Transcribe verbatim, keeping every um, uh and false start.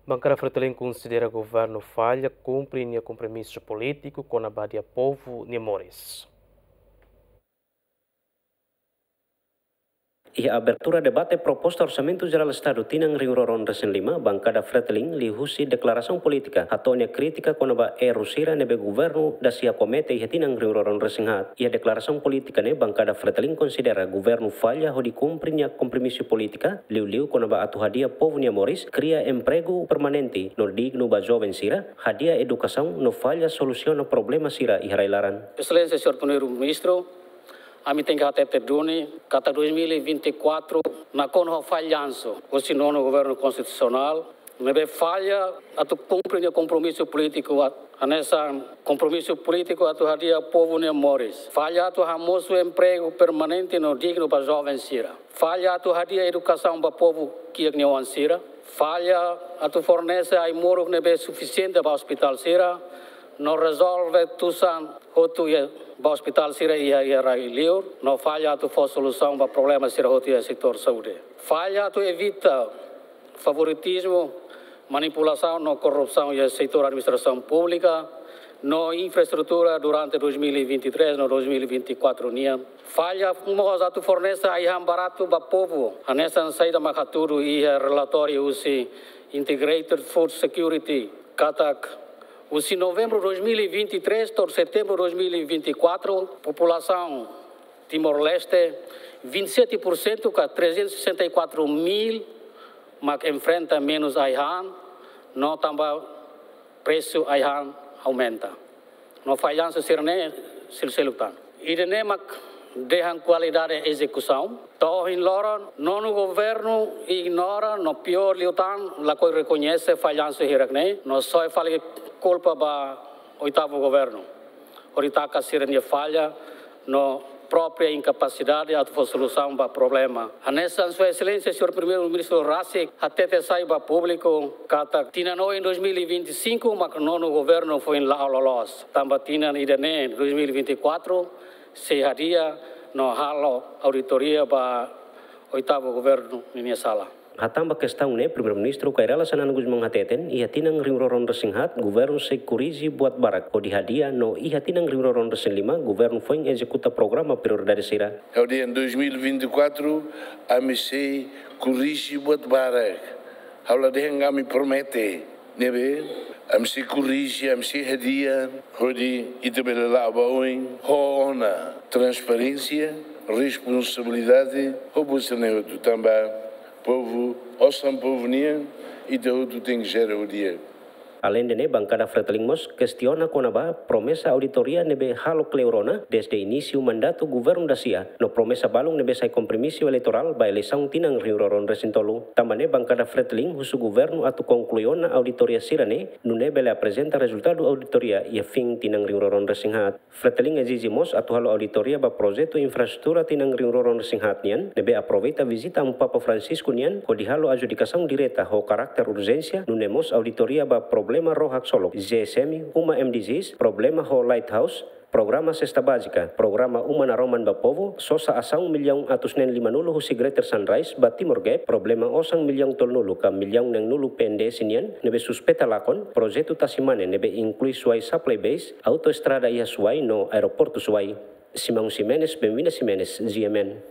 Bankada Fretilin konsidera governu falla kumpre nia kompromisu polítiku kona-ba hadi'a povu nia moris. Iha abertura debate proposta Orsamentu Jerál Estadu tinan rihun rua ruanulu-resin-lima, bankada Fretilin liuhusi deklarasaun polítika hato'o nia krítika kona-ba erru sira ne'ebé governu dasia komete iha tinan rihun rua ruanulu-resin-haat. Iha deklarasaun polítika ne'e, bankada Fretilin konsidera governu falla hodi kumpre nia kompromisu polítika, liuliu kona-ba atu hadi'a povu nia moris, kria empregu permanente no dignu ba joven sira, hadi'a edukasaun no falla solusiona problema sira iha rai-laran. Exelénsia Señór Primeiru-Ministru, ami tenke hatete duni katak dois mil e vinte e quatro nakonu ho fallansu husi nonu governu konstitusionál, ne'ebé falla atu kumpre nia kompromisu polítiku at-, hanesan kompromisu polítiku atu hadi'a povu nia moris. Falla atu hamosu empregu permanente no dignu ba joven sira. Falla atu hadi'a edukasaun ba povu kiak nia oan sira. Falla atu fornese ai-moruk ne'ebé sufisiente ba ospitál sira. No rezolve tusan hotu iha ba ospitál sira iha, iha rai-liur. No falla atu fó solusaun ba problema sira hotu iha setór saúde. Falla atu evita favoritizmu, manipulasaun no korrupsaun iha setór administrasaun públika no infraestrutura durante dois mil e vinte e três no dois mil e vinte e quatro nian. Falla mós atu fornese ai-han baratu ba povu, hanesan saida mak hatudu iha relatóriu husi Integrated Food Security, katak husi Novembru dois mil e vinte e três to'o Setembru dois mil e vinte e quatro, populasaun Timor-Leste, vinte e sete por cento ka trezentos e sessenta e quatro mil mak enfrenta menus ai-han, no tanba presu ai-han aumenta. No fallansu sira-ne'e seluk-seluk tan. Ida-ne'e mak dehan kualidade ezekusaun. To'o ohin loron, nonu governu ignora, no piór liután, lakohi rekoñese fallansu hirak-ne'e, no soe fali kulpa ba oitavu governu. Hodi taka sira-nia falla no própria inkapasidade atu fó solusaun ba problema. Hanesan Sua Exelénsia Señór Primeiru-Ministru rasik hatete sai ba públiku katak tinan oin dois mil e vinte e cinco mak nonu governu foin la'o loloos. Tanba tinan ida-ne'e dois mil e vinte e quatro sei hadi'a no halo auditoria ba oitavu governu ninia sala. Hatán ba kestaun ne'e, Primeiru-Ministru Kay Rala Xanana Gusmão hateten, iha tinan rihun rua ruanulu-resin-haat, governu sei korrije buat barak hodi hadi'a no iha tinan rihun rua ruanulu-resin-lima, governu foin ezekuta programa prioridade sira. Ha'u dehan dois mil e vinte e quatro, ami sei korrije buat barak. Ha'u la dehan ami promete, ne'ebé ami sei korrije, ami sei hadi'a, hodi ita bele la'o ba oin ho ona transparénsia, responsabilidade, ho buat sira-ne'e hotu tanba povu, osan povu nian, ita hotu tenke jere ho di'ak. Aleinde ne'e, bankada Fretilin mós kestiona kona-ba promesa auditoria ne'ebé halo kleur ona dezde inísiu mandatu governu dasia, no promesa balun ne'ebé sai kompromisu eleitorál ba eleisaun tinan rihun rua ruanulu-resin-tolu. Tanba ne'e, bankada Fretilin husu governu atu konklui ona auditoria sira-ne'e, nune'e bele aprezenta rezultadu auditoria iha fin tinan rihun rua ruanulu-resin-haat. Fretilin ezije mós atu halo auditoria ba projetu infraestrutura tinan rihun rua ruanulu-resin-haat nian, ne'ebé aproveita vizita Amu Papa Francisco nian, hodi halo adjudikasaun direta ho karakter urjénsia, nune'e mós auditoria ba problema ró haksolok, G S M, uma M D Gs, problema ho lighthouse, programa sesta bázika, programa uma naroman ba povu, sosa asaun millaun atus neen limanulu husi Greater Sunrise ba Timor Gap, problema osan millaun tolunulu ka millaun neenulu P N D S nian, ne'ebé suspeita lakon, projetu tasi mane ne'ebé inklui Suai Supply Base, autoestrada iha Suai no aeroportu Suai. Simão Ximenes, Benvinda Ximenes, G M N.